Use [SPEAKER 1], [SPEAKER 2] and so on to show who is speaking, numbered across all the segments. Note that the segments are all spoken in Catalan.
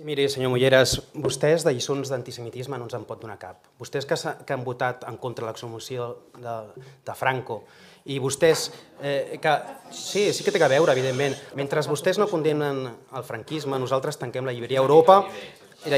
[SPEAKER 1] Sí, miri, senyor Mulleras, vostès de lliçons d'antisemitisme no ens en pot donar cap. Vostès que han votat en contra de l'exhumació de Franco i vostès que... Sí, sí que té a veure, evidentment. Mentre vostès no condemnen el franquisme, nosaltres tanquem la llibreria Europa, que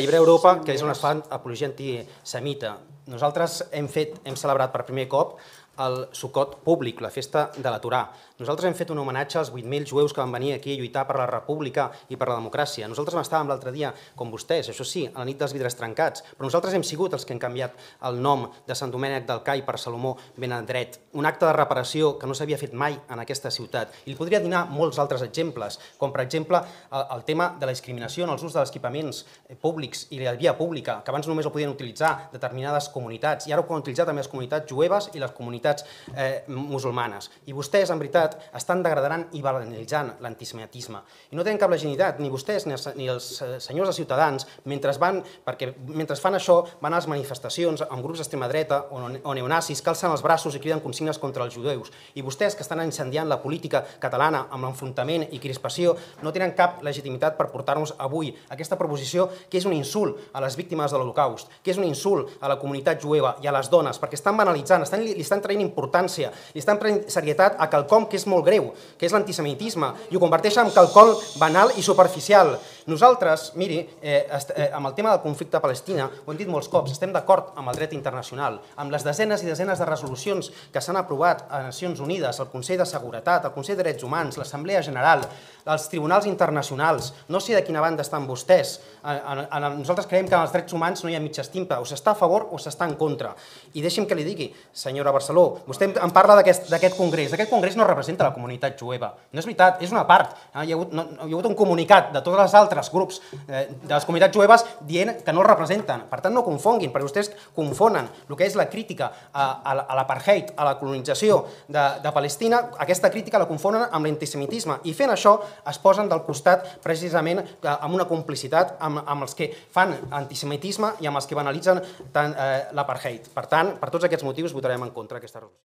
[SPEAKER 1] és on es fa apologia antisemita. Nosaltres hem celebrat per primer cop el Sukkot públic, la festa de la Torà. Nosaltres hem fet un homenatge als 8.000 jueus que van venir aquí a lluitar per la república i per la democràcia. Nosaltres estàvem l'altre dia, com vostès, això sí, a la nit dels vidres trencats, però nosaltres hem sigut els que hem canviat el nom de Sant Domènec del Cai per Salomó Benedret, un acte de reparació que no s'havia fet mai en aquesta ciutat. I li podria donar molts altres exemples, com per exemple el tema de la discriminació en els ús dels equipaments públics i la via pública, que abans només ho podien utilitzar determinades comunitats, i ara ho poden utilitzar també les comunitats jueves i les comunitats musulmanes. I vostès, en veritat, estan degradant i banalitzant l'antisemitisme. I no tenen cap legitimitat, ni vostès ni els senyors de Ciutadans, mentre fan això, van a les manifestacions amb grups d'extrema dreta o neonazis que alcen els braços i criden consignes contra els jueus. I vostès, que estan incendiant la política catalana amb l'enfrontament i crispació, no tenen cap legitimitat per portar-nos avui aquesta proposició, que és un insult a les víctimes de l'Holocaust, que és un insult a la comunitat jueva i a les dones, perquè estan banalitzant, li estan traient importància, li estan traient serietat a quelcom que és molt greu, que és l'antisemitisme, i ho converteixen en quelcom banal i superficial. Nosaltres, miri, amb el tema del conflicte a Palestina, ho hem dit molts cops, estem d'acord amb el dret internacional, amb les desenes i desenes de resolucions que s'han aprovat a Nacions Unides, al Consell de Seguretat, al Consell de Drets Humans, l'Assemblea General, els tribunals internacionals. No sé de quina banda estan vostès. Nosaltres creiem que en els drets humans no hi ha mitja estimpa, o s'està a favor o s'està en contra. I deixi'm que li digui, senyora Barceló, vostè em parla d'aquest congrés. Aquest congrés no representa la comunitat jueva. No és veritat, és una part. Hi ha hagut un comunicat de tots els altres grups de les comunitats jueves dient que no el representen. Per tant, no confonguin, perquè vostès confonen el que és la crítica a l'apartheid, a la colonització de Palestina, aquesta crítica la confonen amb l'antisemitisme. I fent això es posen del costat precisament amb una complicitat amb els que fan antisemitisme i amb els que banalitzen l'apartheid. Per tant, per tots aquests motius votarem en contra d'aquesta resolució.